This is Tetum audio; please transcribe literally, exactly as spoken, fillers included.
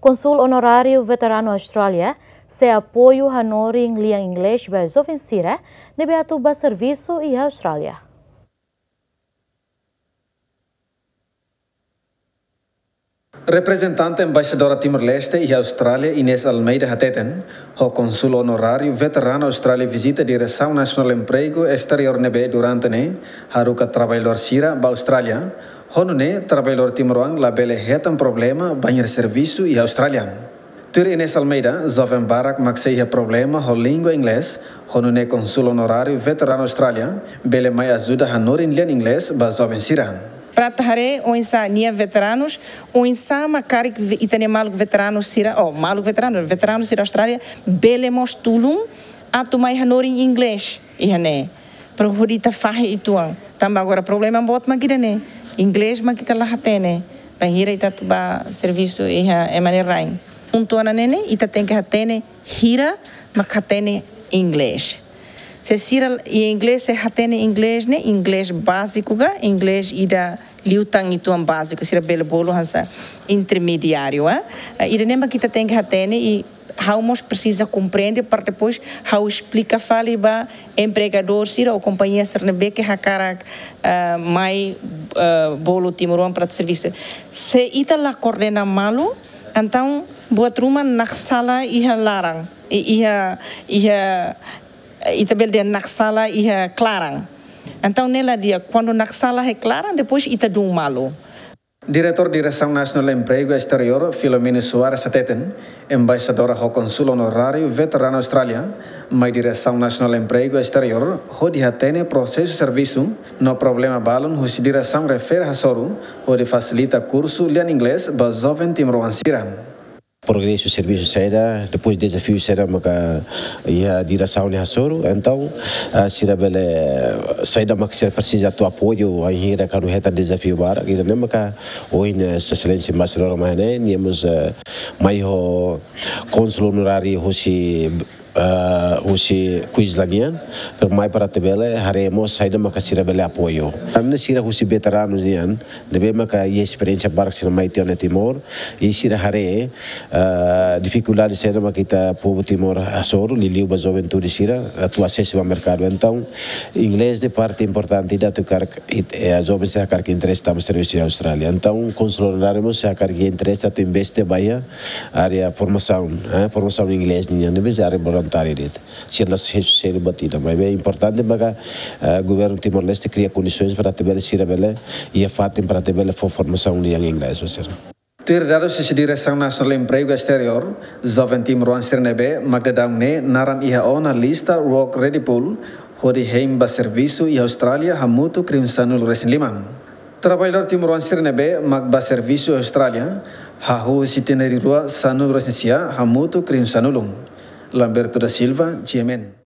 Kónsul Onoráriu Veteranu Austrália sei apoiu hanorin lian Inglés ba joven sira ne'ebé atu bá servisu iha Austrália. Reprezentante Embaixadora Timor-Leste iha Austrália, Inês Almeida, hateten, ho Kónsul Onoráriu Veteranu Austrália vizita Diresaun Nasionál Empregu Esteriór ne'ebé durante ne'e haruka traballadór sira ba Austrália, ho nune'e traballadór timoroan labele hetan problema bainhira servisu iha Austrália. Tuir Inês Almeida, joven barak mak sei iha problema ho língua Inglés, ho nune'e Kónsul Onoráriu Veteranu Austrália bele mai ajuda hanorin lian Inglés ba joven sira. Para atu haree oinsá nia veteranus, oinsá mak karik ve-, ita-nia maluk veteranu sira, oh, maluk veteranu, veteranu sira Austrália, bele mós tulun atu mai hanorin Inglés iha ne'e. Para hodi ita fahe uitoan. Tanba agora problema boot mak ida-ne'e. Inglés mak ita la hatene. Bainhira ita atu bá servisu iha ema nia rain. Pontu hanesan ne'e, ita tenke hatene hira mak hatene Inglés. Se sira iha Inglés, se hatene Inglés ne'e, Inglés báziku ka, Inglés ida liután uitoan báziku, sira bele bolu hanesan intermediáriu, eh? Eh, ida-ne'e mak ita tenke hatene i ha'u mós presiza komprende para depois ha'u esplika fali ba empregadór sira ou kompañia sira ne'ebé ke hakarak, eh, mai, eh, bolu timoroan para servisu. Se ita la koordena malu, entaun buat ruma naksalan iha laran, i-, iha, iha, ita bele dehan naksalan iha klaran. Entaun ne'e la di'ak, kuandu naksalan iha klaran, depois ita dún malu. Diretór Diresaun Nasionál Empregu Esteriór, Filomeno Soares, hateten, Embaixadora ho Kónsul Onoráriu Veteranu Austrália mai Diresaun Nasionál Empregu Esteriór hodi hatene prosesu servisu no problema balun husi diresaun refere hasoru hodi fasilita kursu lian Inglés ba joven timoroan sira. Progresu servisu saida, depois dezafiu saida maka iha diresaun ne'e hasoru, entaun, ah, sira bele, saida mak sira presiza atu apoiu, bainhira kuandu hetan dezafiu barak, ida-ne'e maka ohin, eh, Sua Exelénsia Embaixadora mai ne'e, nia mós, eh, mai ho Kónsul Onoráriu husi, eh, husi Queensland nian, para mai para atu bele haree mós saida maka sira bele apoiu. Tanba sira husi veteranus nian, ne'ebé maka iha esperiénsia barak sira mai tiha ona Timor, i sira haree, ah, difikuldade saida mak ita povu Timor hasoru, liuliu ba juventude sira, atu asesu ba merkadu. Entaun, Inglés ne'e parte importante ida atu karik, it-, eh, joven sira karik interese tama servisu iha Austrália. Entaun, Kónsul Onoráriu mós sira karik interese atu investe ba iha área formasaun, eh, formasaun Inglés nian, ne'ebé área voluntáriu de'it. Sira la hesu selu buat ida, maibé importante maka, eh, governu Timor-Leste kria kondisoens para atu bele sira bele iha fatin para atu bele fó formasaun lian Inglés ba sira. Tuir dadus husi Diresaun Nasionál Empregu Esteriór, joven timoroan sira ne'ebé mak daudaun ne'e naran iha ona lista Work Ready Pool, hodi hein ba servisu iha Austrália hamutuk rihun sanulu resin lima. Traballadór timoroan sira ne'ebé mak bá servisu iha Austrália, hahú husi tinan rihun rua sanulu resin sia hamutuk rihun sanulu. Lamberto da Silva, G M N.